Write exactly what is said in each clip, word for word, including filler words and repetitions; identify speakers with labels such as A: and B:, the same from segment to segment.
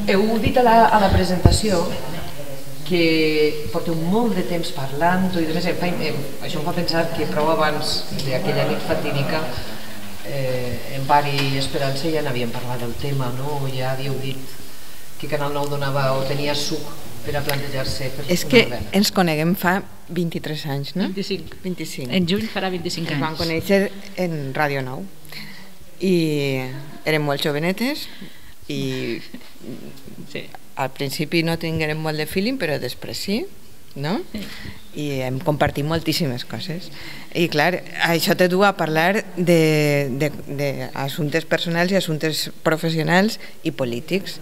A: Heu dit a la presentació que porteu molt de temps parlant, i això em fa pensar que prou abans d'aquella nit fatídica en Bar i Esperança ja n'havíem parlat del tema, ja havíeu dit que Canal nou donava o tenia suc per a plantejar-se per una
B: És que ens coneguem fa vint-i-tres anys, no?
C: vint-i-cinc. En juny farà vint-i-cinc anys.
B: Ens vam conèixer en Ràdio nou i érem molt jovenetes i al principi no tinguérem molt de feeling, però després sí, no? I hem compartit moltíssimes coses. I clar, això te du a parlar d'assumptes personals i assumptes professionals i polítics.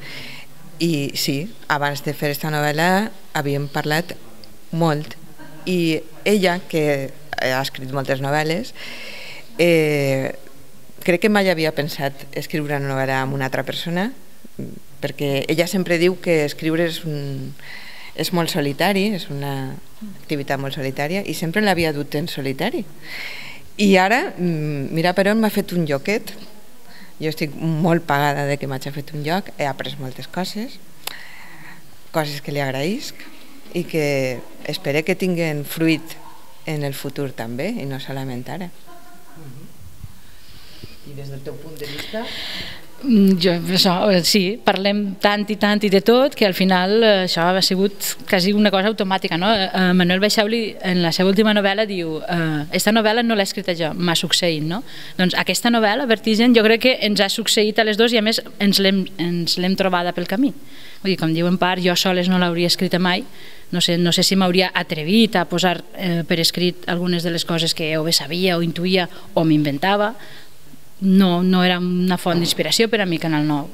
B: I sí, abans de fer aquesta novel·la havíem parlat molt i ella, que ha escrit moltes novel·les, crec que mai havia pensat escriure una novel·la amb una altra persona, perquè ella sempre diu que escriure és molt solitari, és una activitat molt solitària, i sempre l'havia dut en solitari. I ara, mira per on m'ha fet un lloquet. Jo estic molt pagada de que m'hagi fet un lloc, he après moltes coses, coses que li agraïsc i que espero que tinguin fruit en el futur també, i no solament ara.
A: I des del teu punt de vista?
C: Sí, parlem tant i tant i de tot que al final això ha sigut quasi una cosa automàtica. Manuel Baixauli en la seva última novel·la diu: aquesta novel·la no l'he escrita jo, m'ha succeït. Doncs aquesta novel·la, Vertigen, jo crec que ens ha succeït a les dues i a més ens l'hem trobada pel camí. Com diu en part, jo soles no l'hauria escrita mai, no sé si m'hauria atrevit a posar per escrit algunes de les coses que o bé sabia o intuïa o m'inventava. No era una font d'inspiració per a mi Canal nou,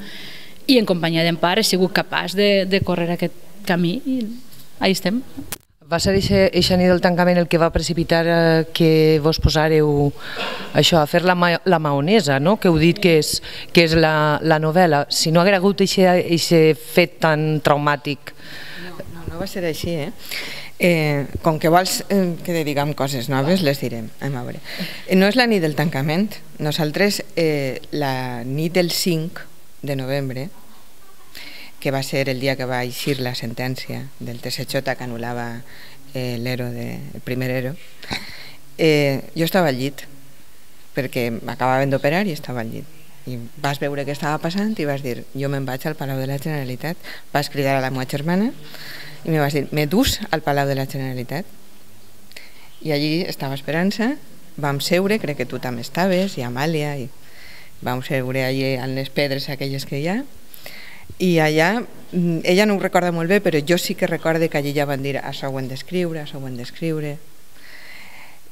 C: i en companyia d'en Par he sigut capaç de córrer aquest camí i ahí estem.
A: Va ser eixa nit del tancament el que va precipitar que vos posàreu a fer la maonesa, que heu dit que és la novel·la? Si no hagués hagut aquest fet tan traumàtic...
B: No va ser així, eh? Com que vols que diguem coses noves, les direm. No és la nit del tancament. Nosaltres, la nit del cinc de novembre, que va ser el dia que va eixir la sentència del T S J que anul·lava el primer ERO, jo estava al llit, perquè m'acabaven d'operar i estava al llit. I vas veure què estava passant i vas dir: jo me'n vaig al Palau de la Generalitat. Vas cridar a la meva germana i me vas dir: me dus al Palau de la Generalitat. I allí estava Esperança, vam seure, crec que tu també estaves, i Amàlia, i vam seure allí en les pedres aquelles que hi ha, i allà, ella no ho recorda molt bé, però jo sí que recordo que allí ja van dir: això ho hem d'escriure, això ho hem d'escriure.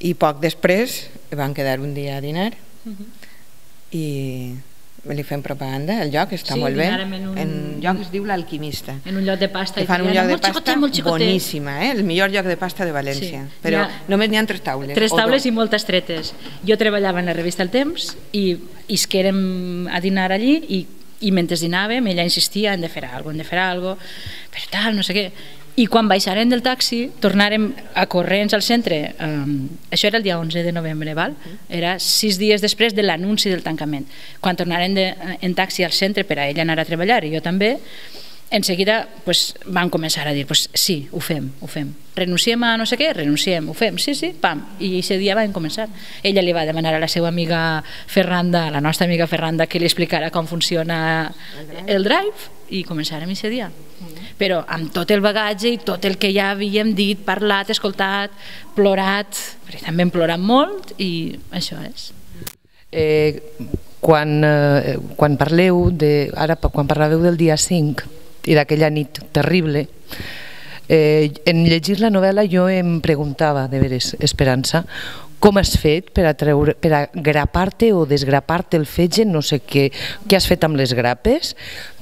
B: I poc després van quedar un dia a dinar i li fem propaganda. El lloc està molt bé, el lloc es diu l'Alquimista,
C: en un lloc de pasta
B: fan un lloc de pasta boníssima, el millor lloc de pasta de València, però només n'hi ha tres taules
C: tres taules i molt estretes. Jo treballava en la revista El Temps i isquérem a dinar allí i mentre dinàvem ella insistia: hem de fer alguna cosa, hem de fer alguna cosa, però tal, no sé què. I quan baixarem del taxi tornarem a corrents al centre. Això era el dia onze de novembre, era sis dies després de l'anunci del tancament. Quan tornarem en taxi al centre per a ella anar a treballar i jo també, en seguida van començar a dir: sí, ho fem, ho fem, renunciem a no sé què, renunciem, ho fem, sí, sí, pam, i aquest dia van començar. Ella li va demanar a la seva amiga Ferranda, a la nostra amiga Ferranda, que li explicara com funciona el Drive, i començarem aquest dia. Però amb tot el bagatge i tot el que ja havíem dit, parlat, escoltat, plorat, perquè també hem plorat molt, i això és.
A: Quan parleu, ara quan parlàveu del dia cinc i d'aquella nit terrible, en llegir la novel·la jo em preguntava, de veres, Esperança, com has fet per a grapar-te o desgrapar-te el fetge, no sé què has fet amb les grapes,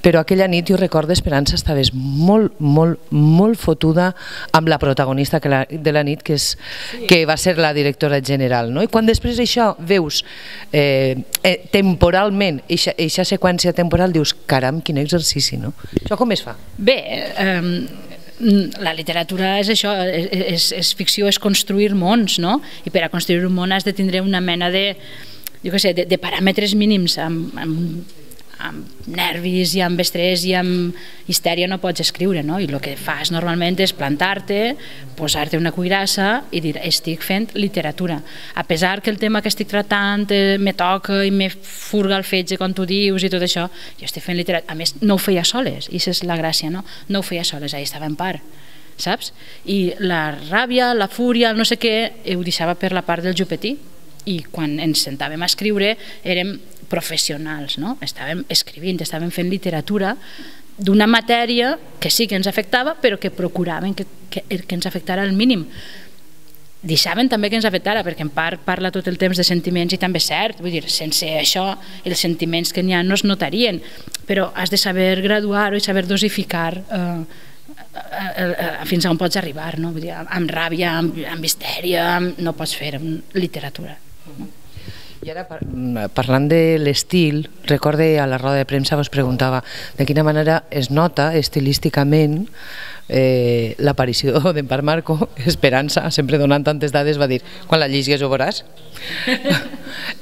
A: però aquella nit jo recordo, Esperança, estaves molt, molt, molt fotuda amb la protagonista de la nit, que va ser la directora general. I quan després això veus temporalment, aquesta seqüència temporal, dius: caram, quin exercici, no? Això com es fa?
C: Bé, la literatura és això, és ficció, és construir mons, no? I per a construir un món has de tindre una mena de, jo què sé, de paràmetres mínims, amb amb nervis i amb estrès i amb histèria no pots escriure, no? I el que fas normalment és plantar-te, posar-te una cuirassa i dir, estic fent literatura. A pesar que el tema que estic tratant me toca i me furga el fetge, com tu dius, i tot això, jo estic fent literatura. A més, no ho feia soles, i això és la gràcia, no? No ho feia soles, ahí estava en part, saps? I la ràbia, la fúria, no sé què, ho deixava per la part del jupetí, i quan ens sentàvem a escriure érem professionals, no? Estàvem escrivint, estàvem fent literatura d'una matèria que sí que ens afectava, però que procuraven que, que, que ens afectara al mínim. Deixaven també que ens afectara, perquè en part parla tot el temps de sentiments i també és cert, vull dir, sense això els sentiments que n'hi ha no es notarien, però has de saber graduar-ho i saber dosificar eh, fins a on pots arribar, no? Vull dir, amb ràbia, amb, amb histèria, amb... no pots fer literatura. No?
A: I ara, parlant de l'estil, recorde a la roda de premsa vos preguntava de quina manera es nota estilísticament eh, l'aparició d'en Parc Marco. Esperança, sempre donant tantes dades, va dir, quan la llegies ho veuràs.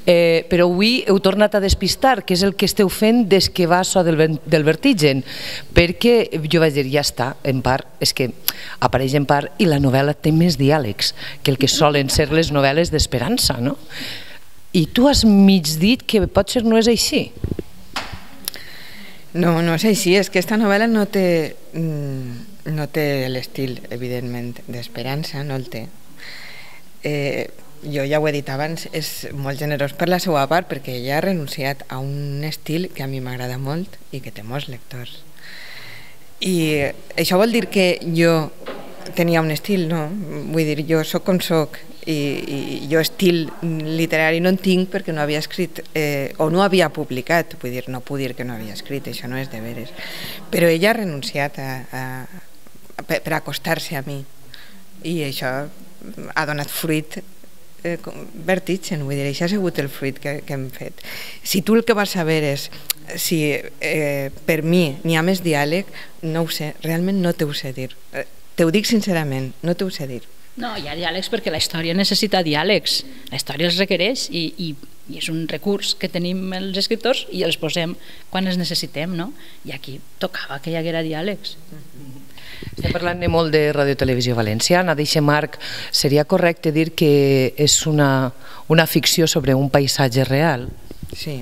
A: eh, però avui heu tornat a despistar, que és el que esteu fent des que va so del, del Vertigen, perquè jo vaig dir, ja està, en part, és que apareix en part i la novel·la té més diàlegs que el que solen ser les novel·les d'Esperança, no? I tu has mig dit que potser no és així.
B: No, no és així, és que aquesta novel·la no té, no té l'estil, evidentment, d'Esperança, no el té. Eh, jo ja ho he dit abans, és molt generós per la seva part, perquè ella ha renunciat a un estil que a mi m'agrada molt i que té molts lectors. I això vol dir que jo tenia un estil, no? Vull dir, jo soc com soc, i, i jo estil literari no en tinc perquè no havia escrit eh, o no havia publicat, vull dir, no puc dir que no havia escrit, això no és de veres, però ella ha renunciat a, a, a, per acostar-se a mi i això ha donat fruit eh, Vertigen, vull dir, això ha sigut el fruit que, que hem fet. Si tu el que vas saber és si eh, per mi n'hi ha més diàleg, no ho sé, realment no t'ho sé dir, t'ho dic sincerament, no t'ho sé dir.
C: No, hi ha diàlegs perquè la història necessita diàlegs, la història els requereix i, i, i és un recurs que tenim els escriptors i els posem quan els necessitem, no? I aquí tocava que hi haguera diàlegs.
A: Estem parlant molt de Radio Televisió Valenciana, d'eixe Marc, seria correcte dir que és una, una ficció sobre un paisatge real?
B: Sí,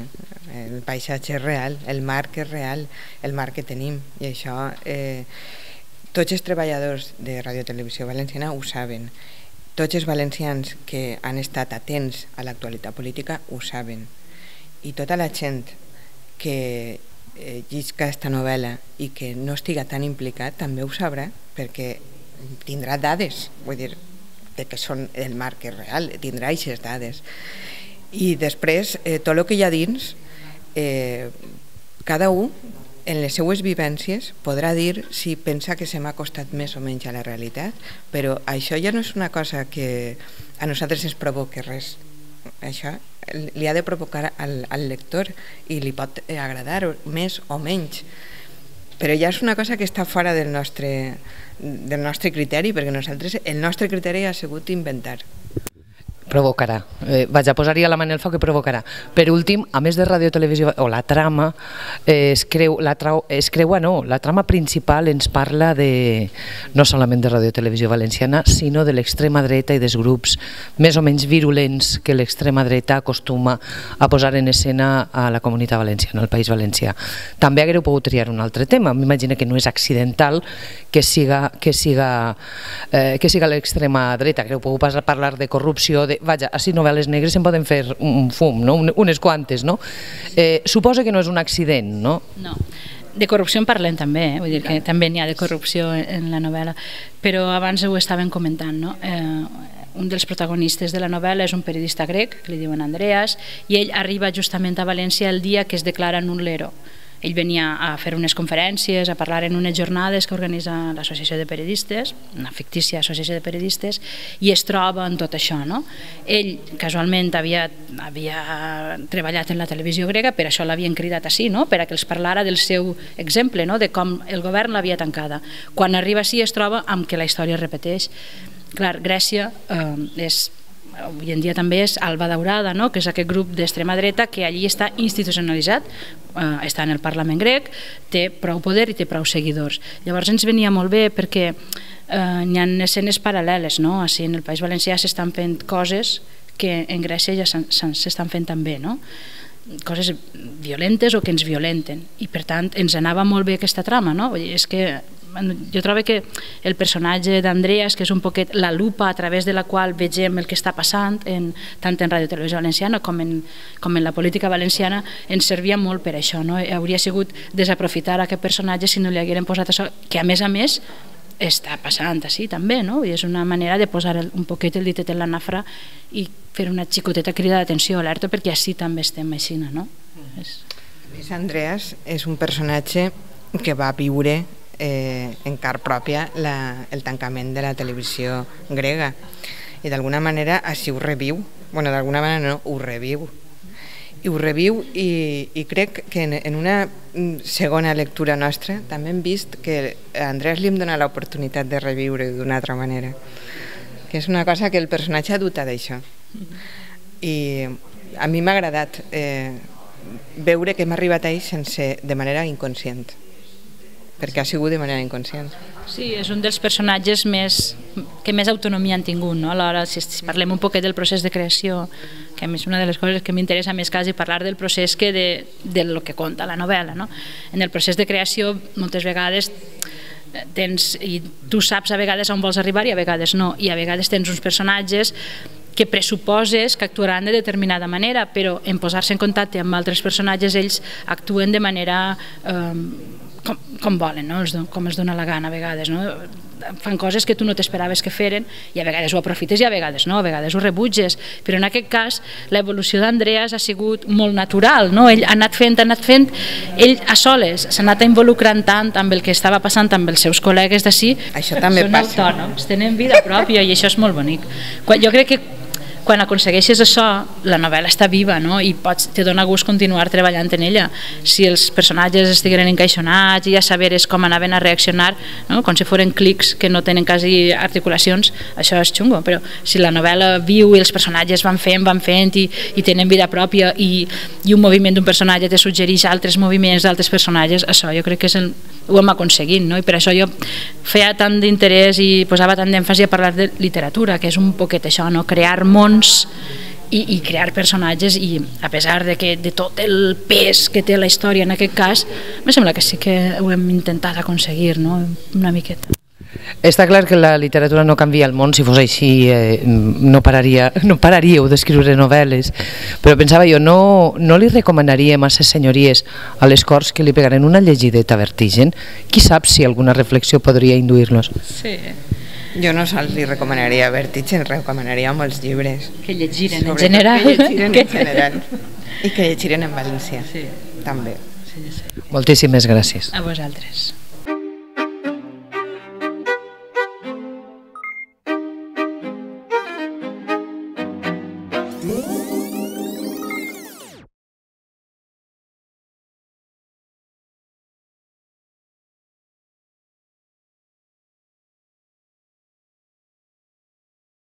B: el paisatge és real, el Marc és real, el Marc que tenim, i això... Eh, tots els treballadors de Radio Televisió Valenciana ho saben. Tots els valencians que han estat atents a l'actualitat política ho saben. I tota la gent que eh, llisca aquesta novel·la i que no estiga tan implicat també ho sabrà, perquè tindrà dades, vull dir, de que són el Marc és real, tindrà aquestes dades. I després, eh, tot el que hi ha dins, eh, cada un en les seues vivències podrà dir si pensa que se m'ha costat més o menys a la realitat, però això ja no és una cosa que a nosaltres ens provoqui res. Això li ha de provocar al, al lector i li pot agradar més o menys, però ja és una cosa que està fora del nostre, del nostre criteri, perquè nosaltres, el nostre criteri ha sigut inventar.
A: Provocarà. Eh, vaig a posar-hi a la mà en el foc que provocarà. Per últim, a més de Radio Televisió, o la trama, eh, es, creu, la trau, es creua no, la trama principal ens parla de, no solament de Radio Televisió Valenciana, sinó de l'extrema dreta i dels grups més o menys virulents que l'extrema dreta acostuma a posar en escena a la comunitat valenciana, al País Valencià. També haguereu pogut triar un altre tema. M'imagino que no és accidental que siga, que siga, eh, que siga l'extrema dreta. Haguereu pogut parlar de corrupció, de vaja, així novel·les negres se'n poden fer un fum, no? Unes quantes, no? Eh, suposa que no és un accident, no?
C: No, de corrupció en parlem també, eh? Vull dir que també n'hi ha de corrupció en la novel·la, però abans ho estàvem comentant, no? Eh, un dels protagonistes de la novel·la és un periodista grec, que li diuen Andreas, i ell arriba justament a València el dia que es declara nullero. Ell venia a fer unes conferències, a parlar en unes jornades que organitza l'Associació de Periodistes, una fictícia associació de periodistes, i es troba en tot això, no? Ell, casualment, havia, havia treballat en la televisió grega, per això l'havien cridat així, no? Per a que els parlara del seu exemple, no? De com el govern l'havia tancada. Quan arriba així es troba amb que la història es repeteix. Clar, Grècia eh, és avui en dia també és Alba Daurada, no? Que és aquest grup d'extrema dreta que allí està institucionalitzat, eh, està en el Parlament grec, té prou poder i té prou seguidors. Llavors ens venia molt bé perquè eh, hi ha escenes paral·leles, no? Així en el País Valencià s'estan fent coses que en Grècia ja s'estan fent també, no? Coses violentes o que ens violenten, i per tant ens anava molt bé aquesta trama, no? Vull dir, és que jo trobo que el personatge d'Andreas, que és un poquet la lupa a través de la qual vegem el que està passant en, tant en Ràdio Televisió Valenciana com en, com en la política valenciana, ens servia molt per això, no? Hauria sigut desaprofitar aquest personatge si no li hagueren posat això, que a més a més està passant així també, no? I és una manera de posar un poquet el ditet en la nafra i fer una xicoteta crida d'atenció, alerta, perquè així també estem així, no?
B: Mm. És... Andreas és un personatge que va viure eh, en car pròpia la, el tancament de la televisió grega i d'alguna manera així ho reviu, bueno, d'alguna manera no, ho reviu i ho reviu i, i crec que en, en una segona lectura nostra també hem vist que a Andreas li hem donat l'oportunitat de reviure d'una altra manera, que és una cosa que el personatge ha dut a d'això. I a mi m'ha agradat eh, veure que hem arribat a ell sense, de manera inconscient, perquè ha sigut de manera inconscient.
C: Sí, és un dels personatges més, que més autonomia han tingut, no? Alhora, si parlem un poquet del procés de creació, que és una de les coses que m'interessa més quasi parlar del procés que de, de lo que conta la novel·la, no? En el procés de creació moltes vegades tens, i tu saps a vegades on vols arribar i a vegades no, i a vegades tens uns personatges que pressuposes que actuaran de determinada manera, però en posar-se en contacte amb altres personatges ells actuen de manera eh, com, com volen, no? Com es dona la gana a vegades, no? Fan coses que tu no t'esperaves que feren i a vegades ho aprofites i a vegades no, a vegades ho rebutges, però en aquest cas l'evolució d'Andreas ha sigut molt natural, no? Ell ha anat fent, ha anat fent, ell a soles s'ha anat involucrant tant amb el que estava passant amb els seus col·legues d'ací,
B: això també
C: són
B: passa.
C: Autònoms, tenen vida pròpia i això és molt bonic. Jo crec que quan aconsegueixes això, la novel·la està viva, no? I pots, te dona gust continuar treballant en ella. Si els personatges estigueren encaixonats i ja saberes com anaven a reaccionar, no? Com si foren clics que no tenen quasi articulacions, això és xungo, però si la novel·la viu i els personatges van fent, van fent i, i tenen vida pròpia i, i un moviment d'un personatge te suggereix altres moviments d'altres personatges, això jo crec que és el, ho hem aconseguit, no? I per això jo feia tant d'interès i posava tant d'èmfasi a parlar de literatura, que és un poquet això, no? Crear mons i, i crear personatges, i a pesar de, que, de tot el pes que té la història en aquest cas, em sembla que sí que ho hem intentat aconseguir, no? Una miqueta.
A: Està clar que la literatura no canvia el món, si fos així eh, no, pararia, no pararíeu d'escriure novel·les, però pensava jo, no, no li recomanaríem a ses senyories a les Corts que li pegaren una llegideta a Vertigen? Qui sap si alguna reflexió podria induir-los?
C: Sí.
B: Jo no sols li recomanaria Vertigen, recomanaria molts llibres.
C: Que llegiren en general.
B: Que llegiren en general. I que llegiren en València, sí. També.
A: Sí, sí. Moltíssimes gràcies.
C: A vosaltres.